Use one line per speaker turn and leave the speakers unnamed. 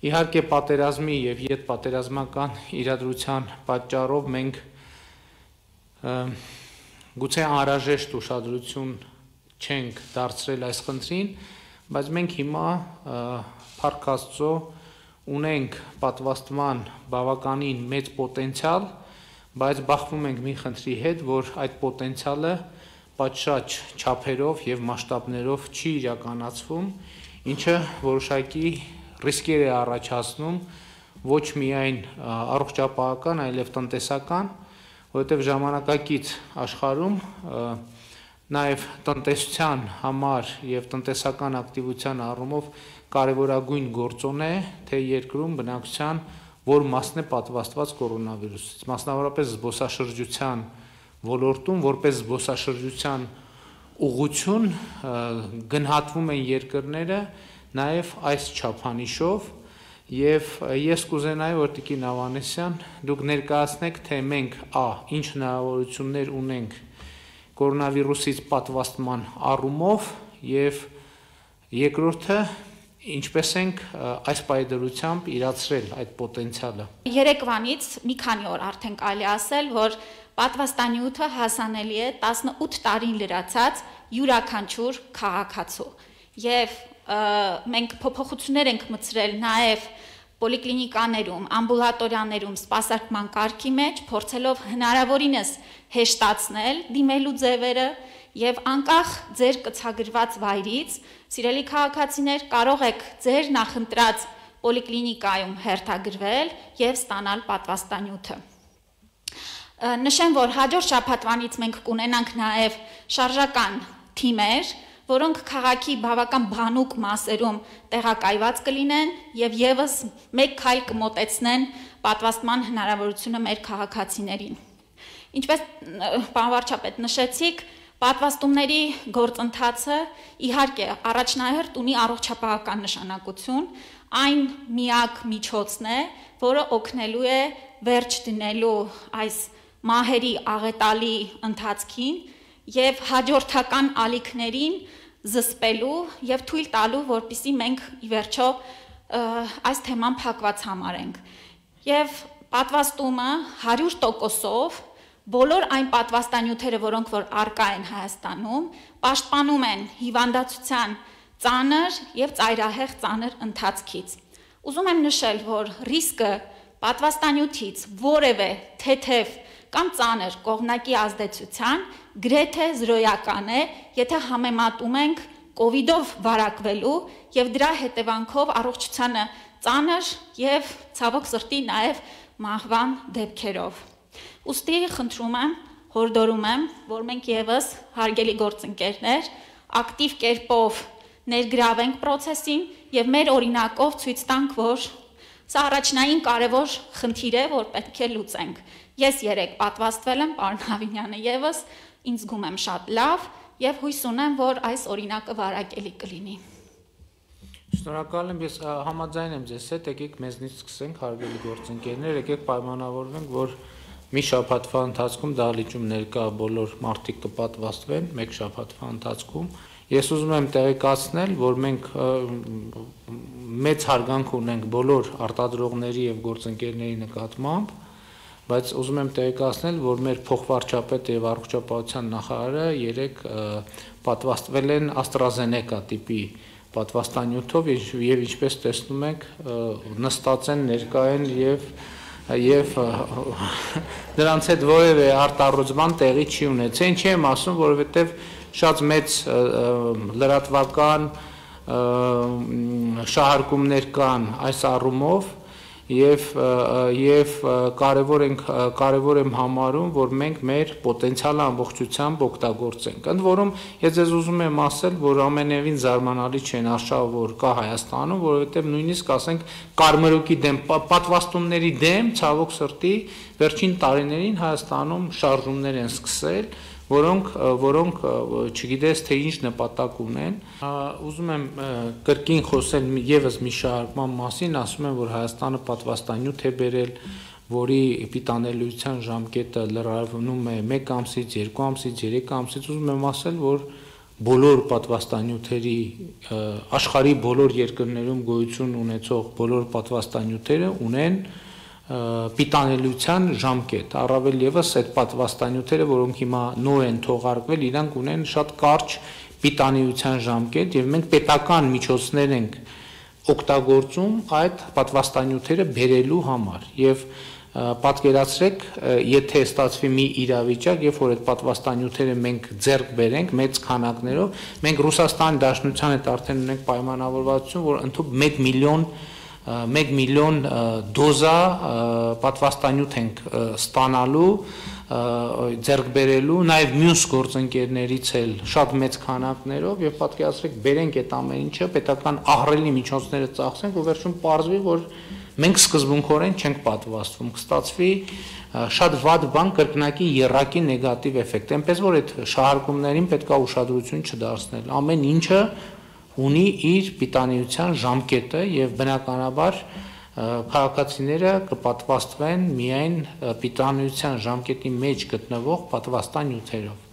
Իհարկե պատերազմի եւ յետպատերազմական իրադրության պատճառով մենք գուցե անհրաժեշտ ուշադրություն չենք դարձրել այս խնդրին, բայց մենք հիմա փառք Աստծո ունենք պատվաստման բավականին մեծ պոտենցիալ, բայց բախվում ենք մի խնդրի հետ, որ այդ պոտենցիալը պատշաճ չափերով եւ մասշտաբներով չի իրականացվում, ինչը որոշակի ռիսկեր է առաջացնում ոչ միայն առողջապահական, այլև տնտեսական, որովհետև ժամանակակից աշխարհում նաև տնտեսության համար եւ տնտեսական ակտիվության առումով կարևորագույն գործոն է, թե երկրում բնակչության որ մասն է պատվաստված կորոնավիրուսից, մասնավորապես զբոսաշրջության ոլորտում, որպես զբոսաշրջության ուղղություն գնահատվում են երկրները նաև այս չափանիշով եւ ես կուզենայի որ Տիկին Ավանեսյան դուք ներկայացնեք թե մենք ինչ հնարավորություններ ունենք կորոնավիրուսից պատվաստման առումով եւ երկրորդը ինչպես ենք այս պայդրությամբ իրացրել այդ պոտենցիալը
Երեկվանից մի քանի օր արդեն կարելի ասել որ պատվաստանյութը հասանելի է 18 տարին լրացած յուրաքանչյուր քաղաքացու եւ մենք փոփոխություններ ենք մտցրել նաև պոլիկլինիկաներում, ամբուլատորիաներում սպասարկման կարգի մեջ, փորձելով հնարավորինս հեշտացնել դիմելու ձևերը եւ անկախ ձեր կցագրված վայրից, սիրելի քաղաքացիներ, կարող եք ձեր նախընտրած պոլիկլինիկայում հերթագրվել եւ ստանալ պատվաստանյութը։ Նշեմ, որ հաջորդ շաբաթվանից մենք կունենանք նաև շարժական թիմեր, որոնք քաղաքի բավական բանուկ մասերում տեղակայված կլինեն եւ եւս մեկ քայլ կմոտեցնեն պատվաստման հնարավորությունը մեր քաղաքացիներին։ Ինչպես պարոն վարչապետ նշեցիք, պատվաստումների գործընթացը իհարկե առաջնահերթ ունի առողջապահական նշանակություն, այն միակ միջոցն է, որը օգնելու է վերջ դնելու այս մահերի աղետալի ընթացքին եւ հաջորդական ալիքներին զսպելու եւ թույլ տալու, որպեսզի մենք ի վերջո այս թեման փակված համարենք։ Եվ պատվաստումը 100%-ով բոլոր այն պատվաստանյութերը, որոնք որ առկա են Հայաստանում, պաշտպանում են հիվանդացության ծանր եւ ծայրահեղ ծանր ընթացքից։ Ուզում եմ նշել, որ ռիսկը պատվաստանյութից որևէ թեթև կամ ծանր կողմնակի ազդեցության գրեթե զրոյական է, եթե համեմատում ենք կովիդով վարակվելու եւ դրա հետևանքով առողջությանը ծանր եւ ցավոք սրտի նաեւ մահվան դեպքերով։ Ուստի խնդրում եմ, հորդորում եմ, որ մենք եւս հարգելի գործընկերներ ակտիվ կերպով ներգրավենք process-ին եւ մեր օրինակով ցույց տանք, որ սա առաջնային կարևոր խնդիր է, որ պետք է լուծենք։ Ես երեք պատվաստվել եմ, պարոն Հավինյանը եւս, ինձ զգում եմ շատ լավ եւ հույս ունեմ, որ այս օրինակը վարակելի կլինի։
Շնորհակալ եմ, ես համաձայն եմ ձեզ հետ, եկեք մեզնից սկսենք, հարգելի գործընկերներ, եկեք պայմանավորվենք, որ մի շաբաթվա ընթացքում դահլիճում ներկա բոլոր մարդիկ կպատվաստվեն, մեկ շաբաթվա ընթացքում։ Ես ուզում եմ տեղեկացնել, որ մենք մեծ հարգանք ունենք բոլոր արտադրողների եւ գործընկերների նկատմամբ, բայց ուզում եմ տեղեկացնել, որ մեր փոխվարչապետը եւ առողջապահության նախարարը երեք պատվաստվել են AstraZeneca տիպի պատվաստանյութով եւ ինչպես տեսնում եք նստած են, ներկա են եւ դրանց հետ որևէ արտառոճման տեղի չի ունեցել, ինչի եմ ասում, որովհետեւ շատ մեծ լրատվական շահարկումներ կան այս առումով եւ կարևոր եմ համարում, որ մենք մեր պոտենցիալը ամբողջությամբ օգտագործենք։ Ընդ որում, ես ձեզ ուզում եմ ասել, որ ամենևին զարմանալի չեն արշավ, որ կա Հայաստանում, որովհետեւ նույնիսկ ասենք կարմրուկի դեմ պատվաստումների դեմ ցավոք սրտի վերջին տարիներին Հայաստանում շարժումներ են սկսել, որոնք չգիտես թե ինչ նպատակ ունեն։ Ուզում եմ կրկին խոսել եւս մի շահարկման մասին, ասում եմ, որ Հայաստանը պատվաստանյութ է բերել, որի պիտանելիության ժամկետը լրացվում է 1 ամսից, 2 ամսից, 3 ամսից, ուզում եմ ասել, որ բոլոր պատվաստանյութերի աշխարհի բոլոր երկրներում գոյություն ունեցող բոլոր պատվաստանյութերը ունեն պիտանելիության ժամկետ, առավել եւս այդ պատվաստանյութերը, որոնք հիմա նոր են թողարկվել, իրանք ունեն շատ կարճ պիտանելիության ժամկետ եւ մենք պետական միջոցներ ենք օգտագործում այդ պատվաստանյութերը բերելու համար եւ պատկերացրեք, եթե ստացվի մի իրավիճակ, երբ որ այդ պատվաստանյութերը մենք ձեռք բերենք մեծ քանակներով, մենք Ռուսաստանի Դաշնության հետ արդեն ունենք պայմանավորվածություն, որ ընդհանուր 1 միլիոն դոզա պատվաստանյութ ենք ստանալու, ձեռք բերելու, նաև մյուս գործընկերներից էլ շատ մեծ քանակներով եւ պատկերացրեք, բերենք այդ ամեն ինչը, պետական ահռելի միջոցները ծախսենք ու վերջում պարզվի, որ մենք սկզբունքորեն չենք պատվաստվում, կստացվի շատ վատ բան, կրկնակի եռակի նեգատիվ էֆեկտ, այնպես որ այդ շահարկումներին պետք է ուշադրություն չդարձնել, ամեն ինչը ունի իր պիտանելիության ժամկետը եւ բնականաբար քաղաքացիները կպատվաստվեն միայն պիտանելիության ժամկետի մեջ գտնվող պատվաստանյութերով։